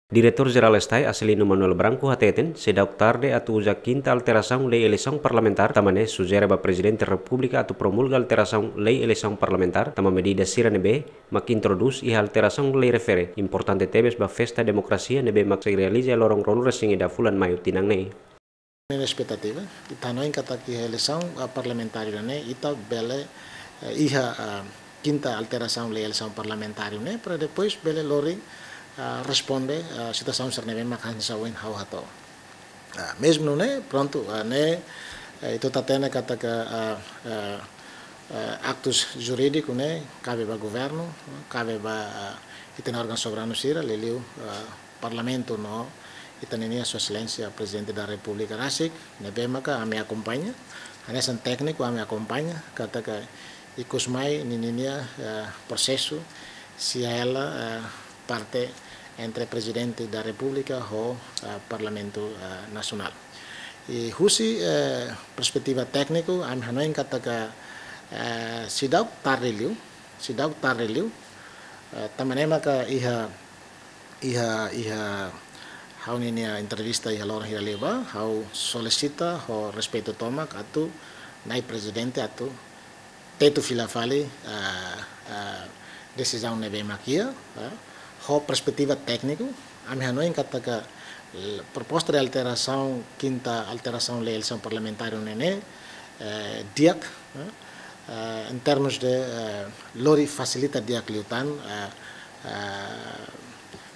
Diretor-Geral Estai Acelino Manuel Branco hateten sedau tarde atu uja quinta alteração lei eleição parlamentar tamane sugere ba Presidente da República atu promulga alteração lei eleição parlamentar tama medida sira nebe mak introduz iha alteração lei refere importante tebes ba festa demokrasia nebe mak se realiza lorong ronu resingi da fulan mayu tinang nei. Expectativa itanoin kata ki eleição parlamentar ne ita bele iha quinta alteração lei eleição parlamentar ne para depois bele lori responde a situação serneve makan sawen hau hato. Mesmo né pronto né itu tatena kata que actos jurídicos né cabe ba governo cabe ba itena órgão soberano sira leliu parlamento no itanenia sua excelência presidente da República Rasik nebe maka ame acompanha anesan técnico ame acompanha kata que ikusmai ninia processo se ela parte entre Presidente da República e Parlamento Nacional. E husi perspektiva tekniko am hanoin kata ka sidau tarreliu tamanema ka iha hau ninia entrevista iha lor hira leba hau solicita ho respeito tomak atu nai presidente atu tetu filafali decisão nebe makia ho perspectiva técnico am hanoin kata ka proposta de alteração quinta alteração lei eleição parlamentar nene diak em termos de lori facilita diak liutan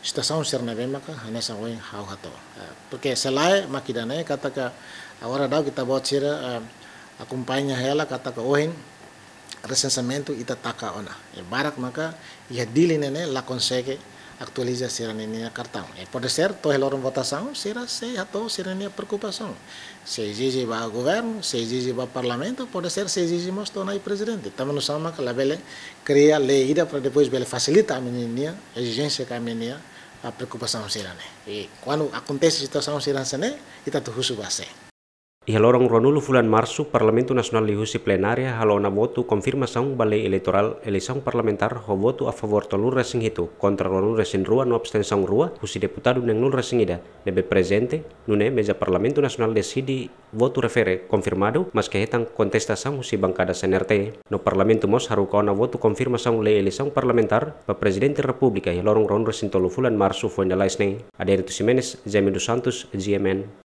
situação serneve maka hanesa oi hau hato porque selai makidane kata ka agora dau kita buat sira acompanha ela kata ka ohin recensamento ita taka ona barak maka ia dili nene la consegue actualiza serania cartão pode ser toda a votação será se ato serania preocupação se exige ba governo se exige ba parlamento pode ser se exigimos tona presidente também nos sama que la bele cria lei para depois bele facilita a menina exigência que a menina a preocupação serane e quando acontece situação serane ita tu husu base. Iha lorong ronulu fulan março, Parlamento Nacional lihusi plenária halona voto confirmação ba lei eleitoral eleição parlamentar ho voto a favor tolur resing hitu contra ronul resin rua no abstenção rua husi deputado neng nul resingida nebe presente nune meja Parlamento Nacional decidi voto refere confirmado mas que hetan contestação husi bancada CNRT no Parlamento mos haru kauna voto confirmação lei eleição parlamentar ba Presidente República iha lorong ronul resin tolu fulan março foi na laisnei Aderitu Simenes, Jaime dos Santos, GMN